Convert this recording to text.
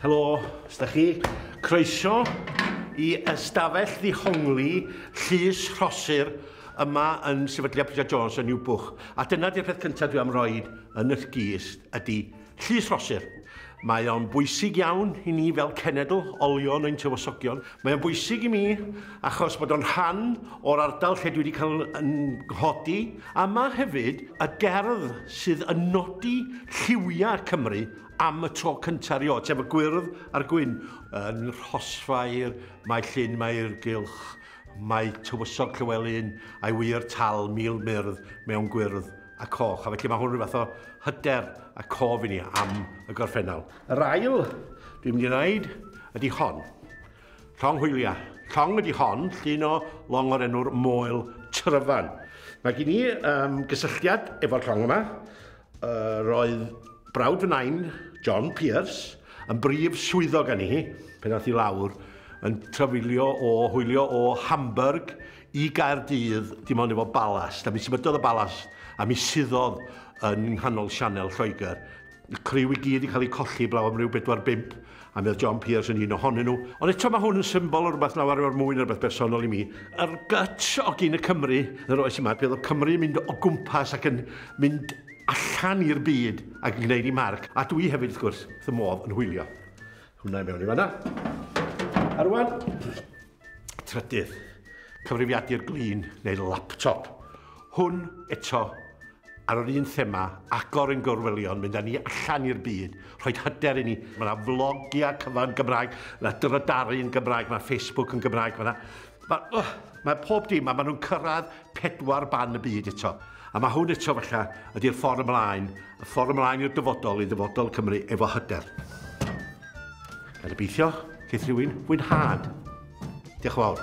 Helo, ydych chi? Croeso i ystafell ddihongli Llys Rhosir yma yn Sefydliad Pritchard Jones yn Niwbwch. A dyna di'r peth cyntaf dwi am roed yn y gist ydy Llys Rhosir. Mae o'n bwysig iawn i ni fel cenedl, olion ein tywysogion. Mae o'n bwysig i mi achos bod o'n rhan o'r ardal lle dwi wedi cael yn nghodi. A mae hefyd y gerdd sydd yn nodi lliwiau Cymru am y tro cyntaf erioed, sef y gwyrdd a'r gwyn. Yn Rhosfair, mae Llyn, mae Irgylch, mae Tywysog Llywelyn a'i wir tal 1000 myrdd mewn gwyrdd a coch. A felly mae hwn rhyw fath o hyder a cof i ni am y gorffennol. Yr ail dwi'n mynd i wneud ydy hon. Llong hwyliau. Llong ydy hon, llun o long o'r enw'r Moel Tryfan. Mae gen i gysylltiad efo'r llong yma. Roedd brawd fy nain, John Pierce, yn brif swyddog â ni, pan ath i lawr, yn trafeilio o, hwylio o Hamburg i Gaerdydd, dim ond efo balast. A mi symudodd y balast, a mi suddodd yn nghanol sianel Lloegr. Y criw i gyd i cael eu colli blaw am ryw 4-5, a mi oedd John Pierce yn un ohonyn nhw. Ond eto mae hwn yn symbol o rhywbeth lawer o'r mwy na rhywbeth bersonol i mi. Yr guts o gyn y Cymru yn yr oes yma, bydd o Cymru yn mynd o gwmpas ac yn mynd allan i'r byd ac yn gwneud i marc. A dwi hefyd, wrth gwrs, wrth y modd yn hwylio. Hwna i mewn i fanna. A rwan, trydydd, cyfrifiadur glin neu laptop. Hwn eto ar yr un thema, agor yn gorwelion, mynd â ni allan i'r byd, rhoi hyder i ni. Mae yna vlogiau cyfan Gymraeg, mae yna drydaru yn Gymraeg, mae Facebook yn Gymraeg, mae yna... Mae pob dim, a maen nhw'n cyrraedd 4 ban y byd eto. A mae hwn eto falle ydy'r ffordd ymlaen, y ffordd ymlaen i'r dyfodol, i ddyfodol Cymru efo hyder. Gan gobeithio, geith rhywun fwynhad. Diolch yn fawr.